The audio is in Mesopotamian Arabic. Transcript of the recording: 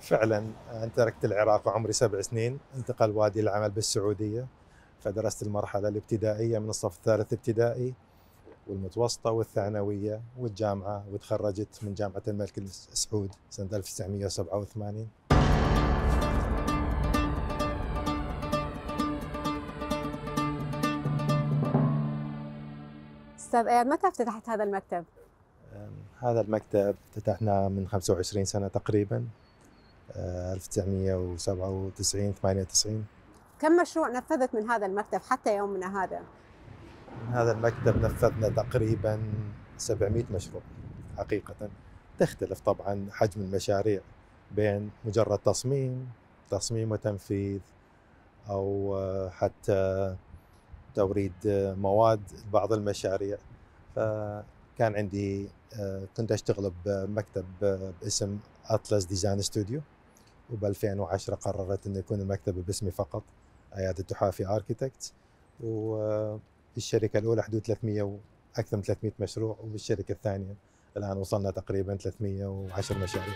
فعلا أنا تركت العراق وعمري 7 سنين، انتقل والدي للعمل بالسعودية، فدرست المرحلة الابتدائية من الصف الثالث ابتدائي والمتوسطة والثانوية والجامعة، وتخرجت من جامعة الملك سعود سنة 1987. أستاذ إياد، متى افتتحت هذا المكتب؟ هذا المكتب افتتحناه من 25 سنة تقريبا، 1997 98. كم مشروع نفذت من هذا المكتب حتى يومنا هذا؟ من هذا المكتب نفذنا تقريبا 700 مشروع حقيقة. تختلف طبعا حجم المشاريع بين مجرد تصميم وتنفيذ، أو حتى توريد مواد بعض المشاريع. فكان عندي كنت أشتغل بمكتب باسم أطلس ديزاين ستوديو، وب 2010 قررت أن يكون المكتب باسمي فقط، عيادة تحافي آركيتكت. وبالشركة الأولى حدود 300 أكثر من 300 مشروع، وبالشركة الثانية الآن وصلنا تقريبا 310 مشاريع.